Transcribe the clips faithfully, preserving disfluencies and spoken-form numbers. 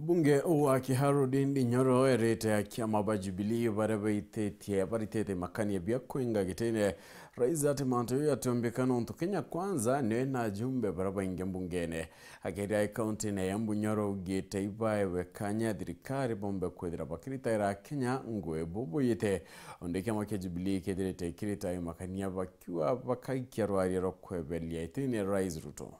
Mbunge wa Kiharu Ndindi Nyoro erite akiama ba Jubilee baria baititie, baritite makania bia kwinga gitine Rais ati mantu jau jatiombika nontu Kenya Kwanza niyo ina ajumbe baria baingi mbungene. Akiaria e kauntine ya Embu, Nyoro augite ibaewe kanya thirikari bombe kwithira bakiritaira Akenya ngugi bubuyite. Onde kiama kia Jubilee kithirite kirita makania bakiuga bakaikia rwaria rwa kweberia itine Rais Ruto.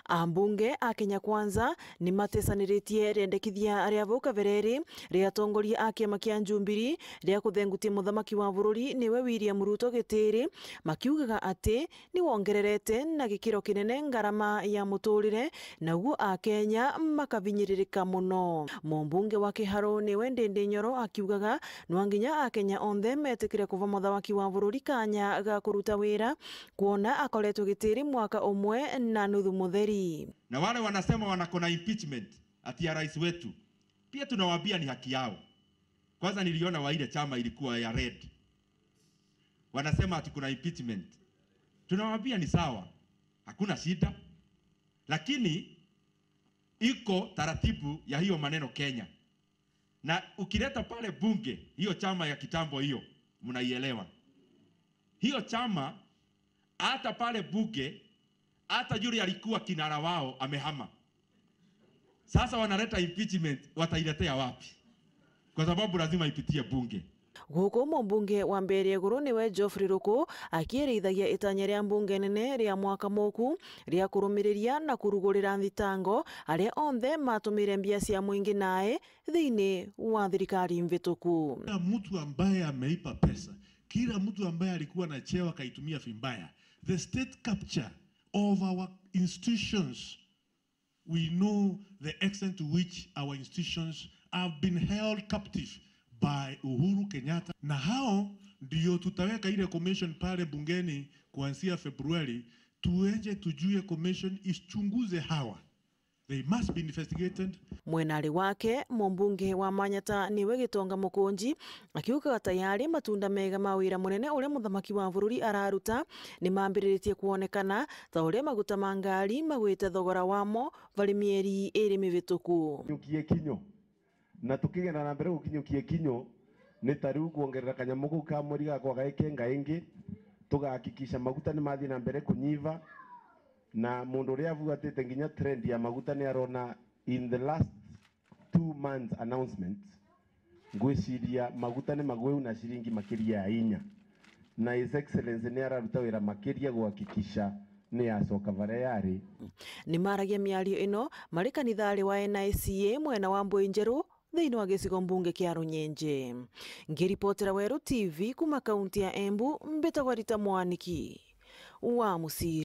Ambunge a Kenya Kwanza ni matesaniritie riendekithia ria vau kabere ri ria atongoria a kiama kia Jubilee ria kuthengutia muthamaki wa bururi niwe William Ruto gitiri, makiugaga ati ni wongererete na gikiro kinene ngarama ya muturire, naguo Akenya makavinyiririka muno. Mumbunge wa Kiharu niwe Ndindi Nyoro akiugaga nwa nginya Akenya onthe metikire kuva muthamaki wa bururi kanya ga kuruta wira, kwona akoretwe gitiri mwaka umwe na nuthu mutheri. Na wale wanasema wanakona impeachment ati ya rais wetu, pia tunawaambia ni haki yao. Kwanza niliona wa ile chama ilikuwa ya red. Wanasema ati kuna impeachment. Tunawaambia ni sawa. Hakuna shida. Lakini iko taratibu ya hiyo maneno Kenya. Na ukileta pale bunge, hiyo chama ya kitambo hiyo, mnaielewa. Hiyo chama, hata pale bunge, hata yule alikuwa kinara wao amehama. Sasa wanaleta impeachment, watailetea wapi? Kwa sababu lazima ipitie bunge. Guku mumbunge wa Mbeere Iguru niwe Geoffrey Ruku akiirithagia itanya ria mbunge nene ria mwaka muku ria kurumiriria na kurugurira nthitango aria onthe matumire mbia cia mwingi nae thiini wa thirikari mvituku. Kila mtu ambaye ameiba pesa, kila mtu ambaye alikuwa na cheo akaitumia vibaya, the state capture of our institutions, we know the extent to which our institutions have been held captive by Uhuru Kenyatta. Na hao ndio tutaweka ile commission pale bungeni kuanzia Februari, tuenje tujue commission ichunguze hawa. They must be investigated. Mwenari wake, mumbunge wa Manyata niwe Gitonga Mukunji, akiugaga tayari matunda mega ma wira munene uria muthamaki wa bururi araruta ni mambiriritie kwonekana, ta uria maguta ma ngari magwite thogora wamo vari mieri iri mivituku. Kinyukie kinyo. Na tukigenda na mbere gukinyukia ikinyo, ni ta riu kwongerera kanyamu kau ka mweri gakwa gaikenga ingi, tugahakikisha maguta ni mathii na mbere kunyiva, na mundu uria abuatite nginya trend ya maguta ni arona in the last two months announcement, ngwiciria maguta ni magweu na ciringi makiria ya inya. Na His Excellency ni araruta wira makiria guhakikisha ni yacoka varia yari. Ni maragia miario ino mari kanithari wa N I C A mwena wa Mbui Njeru thiini wa gicigo mbunge kia Runyenje. Ngiripotera Weru T V kuma kaunti ya Embu, mbitagwa Rita Mwaniki wa Musiri.